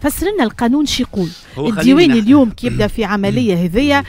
فسر لنا القانون شو يقول. الديواني اليوم كي يبدا في عملية هذيا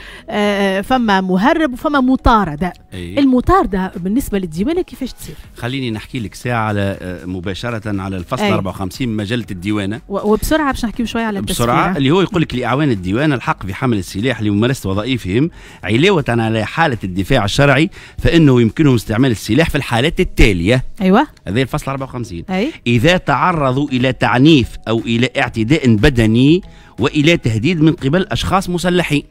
فما مهرب وفما مطاردة. المطارده بالنسبة للديوانه كيفاش تصير؟ خليني نحكي لك ساعة على مباشرة على الفصل 54 من مجلة الديوانه، وبسرعة باش نحكيو شوية على بسرعة، اللي هو يقول لك لاعوان الديوانه الحق في حمل السلاح لممارسة وظائفهم علاوه على حاله الدفاع الشرعي، فانه يمكنهم استعمال السلاح في الحالات التالية. ايوه، هذا الفصل 54. اذا تعرضوا الى تعنيف او الى اعتداء بدني والى تهديد من قبل اشخاص مسلحين.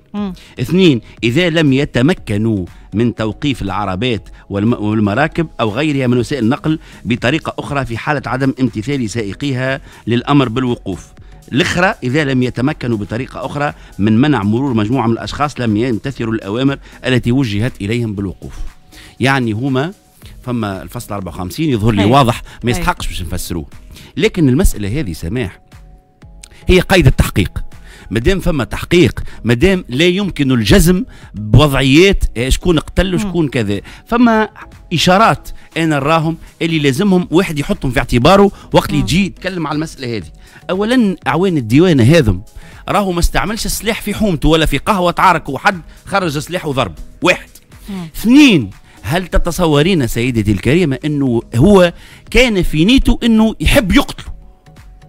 اثنين، اذا لم يتمكنوا من توقيف العربات والمراكب او غيرها من وسائل النقل بطريقة اخرى في حاله عدم امتثال سائقيها للامر بالوقوف. الاخرى، اذا لم يتمكنوا بطريقة اخرى من منع مرور مجموعة من الاشخاص لم يمتثلوا الاوامر التي وجهت اليهم بالوقوف. يعني هما فما الفصل 54 يظهر لي واضح، ما يستحقش باش نفسروه. لكن المسالة هذه سماح هي قيد التحقيق. مادام فما تحقيق، مادام لا يمكن الجزم بوضعيات شكون قتل وشكون كذا، فما اشارات انا نراهم اللي لازمهم واحد يحطهم في اعتباره وقت اللي يجي يتكلم على المسالة هذه. اولا، اعوان الديوانه هذم راهو ما استعملش السلاح في حومته ولا في قهوة تعارك وحد خرج سلاح وضرب. واحد. اثنين، هل تتصورين سيدتي الكريمة انه هو كان في نيته انه يحب يقتله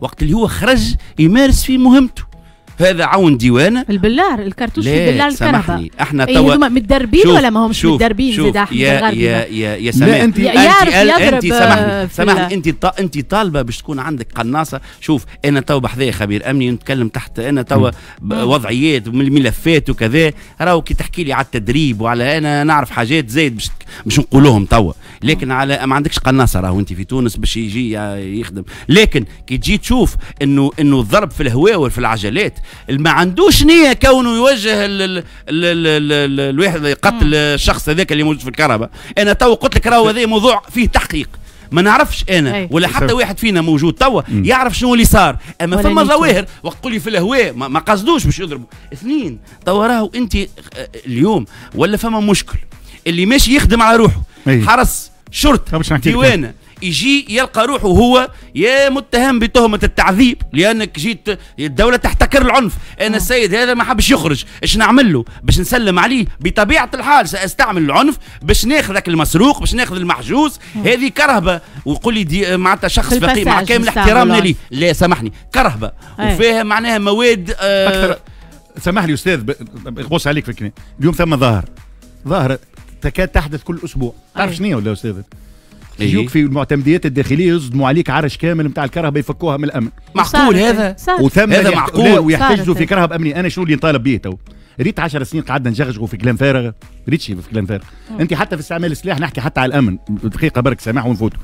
وقت اللي هو خرج يمارس في مهمته؟ هذا عون ديوانه. البلار، الكرتوش في بلار الكرهبه. سامحني، احنا توا متدربين ولا ما همش متدربين؟ زيد احمد الغربي، يا يا يا سماح، انت انت سامحني سامحني، انت طالبه باش تكون عندك قناصه. شوف، انا تو بحذايا خبير امني نتكلم تحت، انا تو وضعيات من الملفات وكذا، راهو كي تحكي لي على التدريب وعلى انا نعرف حاجات زايد باش نقولوهم توا، لكن على ما عندكش قناصه راهو انت في تونس باش يجي يخدم. لكن كي تجي تشوف انه الضرب في الهواء وفي العجلات، ما عندوش نيه كونه يوجه ال ال ال ال الواحد قتل الشخص هذاك اللي موجود في الكرهبه. انا تو قلت لك راهو هذا موضوع فيه تحقيق، ما نعرفش انا ولا حتى واحد فينا موجود توا يعرف شنو اللي صار، اما فما ظواهر وقت تقول لي في الهواء ما قصدوش باش يضربوا. اثنين، توا راهو انت اليوم ولا فما مشكل اللي ماشي يخدم على روحه، حرس شرطه ديوانه، يجي يلقى روحه هو يا متهم بتهمة التعذيب لأنك جيت الدولة تحتكر العنف. أنا السيد هذا ما حبش يخرج، إيش نعمل له باش نسلم عليه؟ بطبيعة الحال سأستعمل العنف باش ناخذ المسروق، باش ناخذ المحجوز. هذه كرهبة، ويقول لي دي معناتها شخص فقير مع كامل احترامنا ليه، لا سامحني، كرهبة وفيها معناها مواد أكثر. سامح لي أستاذ، بغوص عليك في الكلام. اليوم ثم ظاهرة تكاد تحدث كل أسبوع، تعرف شنو ولا أستاذ؟ يجوك في المعتمديات الداخلية يصدموا عليك عرش كامل نتاع الكرهبه يفكوها من الامن. معقول هذا؟ وثم هذا معقول؟ ويحتجزوا في كرهبه امنية. انا شنو اللي نطالب به تو؟ ريت 10 سنين قعدنا نجغجغوا في كلام فارغ، ريت شي في كلام فارغ. انت حتى في استعمال السلاح، نحكي حتى على الامن دقيقة برك سامح ونفوتوا.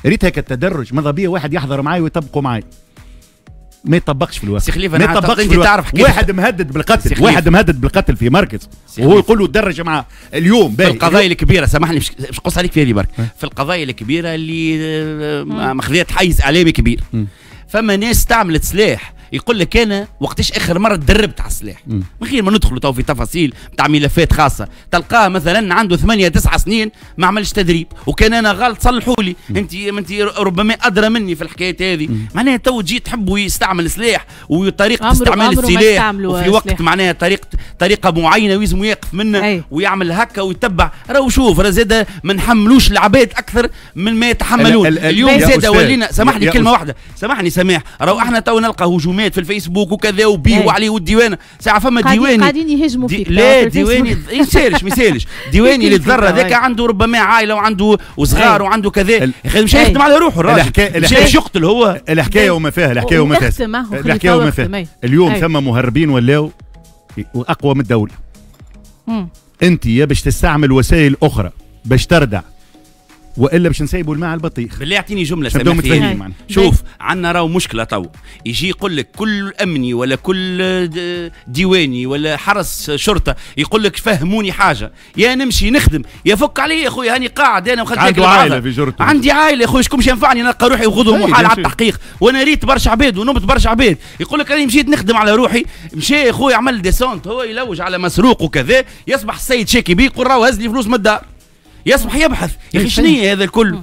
ريت هيك التدرج، ماذا بيا واحد يحضر معي ويطبقوا معي، ما يطبقش في الواقع. سي خليفة، ما يطبقش في الواقع. تعرف واحد مهدد بالقتل، واحد مهدد بالقتل في مركز وهو يقول له تدرج معاه اليوم. في القضايا الكبيرة، سامحني باش نقص عليك في هذه برك، في القضايا الكبيرة اللي ماخذات حيز اعلامي كبير، فما ناس استعملت سلاح يقول لك انا وقتاش اخر مرة تدربت على السلاح، من غير ما ندخلوا تو في تفاصيل نتاع ملفات خاصة، تلقاه مثلا عنده 8 9 سنين ما عملش تدريب، وكان انا غلط صلحوا لي، انت ربما ادرى مني في الحكايات هذه. معناها تو تجي تحبوا يستعمل سلاح وطريقه استعمال السلاح وفي وقت معناها طريقه معينة ويلزم يقف منه ويعمل هكا ويتبع. راهو شوف، راه زاد ما نحملوش العباد اكثر من ما يتحملون. اليوم زاد ولينا، سامحني كلمة واحدة، سامحني سماح، راهو احنا تو نلقى هجومات في الفيسبوك وكذا وبيه وعليه والديوانه، ساعة فما ديواني قاعدين يهجموا فيك. لا ديواني يسالش ما يسالش، ديواني اللي تضر هذاك عنده ربما عائلة وعنده وصغار وعنده كذا، مش يخدم على روحه الراجل، مش يقتل هو. الحكاية وما فيها، الحكاية وما فيها، الحكاية وما فيها. اليوم ثم مهربين ولاو اقوى من الدولة. انت يا باش تستعمل وسائل اخرى باش تردع، والا باش نسيبوا الماء على البطيخ. بالله اعطيني جملة سامحني. شوف عندنا راهو مشكلة تو، يجي يقول لك كل امني ولا كل ديواني ولا حرس شرطه يقول لك فهموني حاجة، يا نمشي نخدم يا فك علي يا خويا، هاني قاعد انا وخدت عنده عائلة في جرته، عندي عائلة يا خويا، شكون باش ينفعني؟ نلقى روحي وغدوه محال على التحقيق، وانا ريت برشا عباد ونبت برشا عباد يقول لك راني مشيت نخدم على روحي، مشى يا خويا عمل descente، هو يلوج على مسروق وكذا، يصبح السيد شاكي بيه يقول راهو هز لي فلوس من الدار، يصبح يبحث يا اخي شنو هذا الكل.